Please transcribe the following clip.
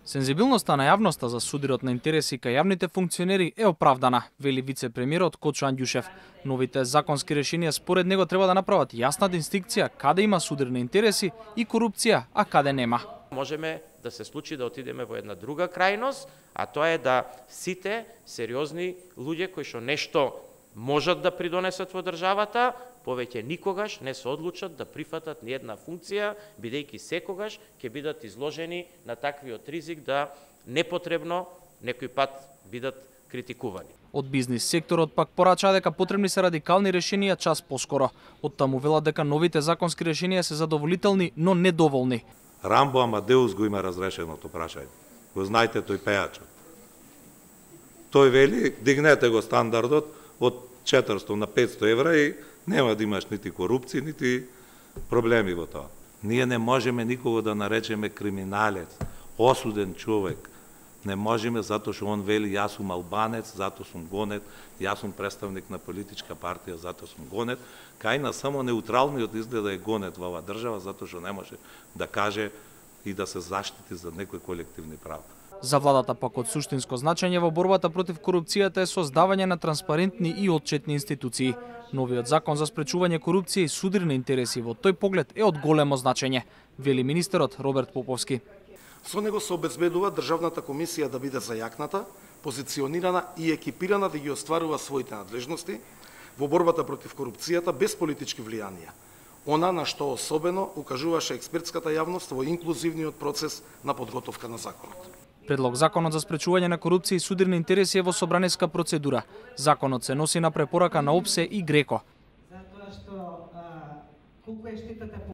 Сензибилноста на јавноста за судирот на интереси кај јавните функционери е оправдана, вели вице-премиерот Кочо Анѓушев. Новите законски решенија според него треба да направат јасна дистинкција каде има судир на интереси и корупција, а каде нема. Можеме да се случи да отидеме во една друга крајност, а тоа е да сите сериозни луѓе кои што нешто можат да придонесат во државата, повеќе никогаш не се одлучат да прифатат ни една функција, бидејќи секогаш ќе бидат изложени на таквиот ризик да непотребно некој пат бидат критикувани. Од бизнис секторот пак порачаа дека потребни се радикални решенија час поскоро. Од таму велат дека новите законски решенија се задоволителни, но недоволни. Рамбо Амадеус го има разрешеното прашање. Го знаете тој пејачот. Тој вели, дигнете го стандардот од 400 на 500 евра и нема да имаш нити корупција, нити проблеми во тоа. Ние не можеме никого да наречеме криминалец, осуден човек. Не можеме затоа што он вели јас сум албанец, затоа сум гонет, јас сум представник на политичка партија, затоа сум гонет. Кај на само неутралниот изгледа е гонет во оваа држава, затоа што не може да каже и да се заштити за некои колективни права. За владата пак од суштинско значење во борбата против корупцијата е создавање на транспарентни и отчетни институции. Новиот закон за спречување корупција и судир на интереси во тој поглед е од големо значење, вели министерот Роберт Поповски. Со него се обезбедува Државната комисија да биде зајакната, позиционирана и екипирана да ги остварува своите надлежности во борбата против корупцијата без политички влијанија. Она на што особено укажуваше експертската јавност во инклузивниот процес на подготовка на законот. Предлог законот за спречување на корупција и судир на интереси е во собраниска процедура. Законот се носи на препорака на ОПСЕ и ГРЕКО.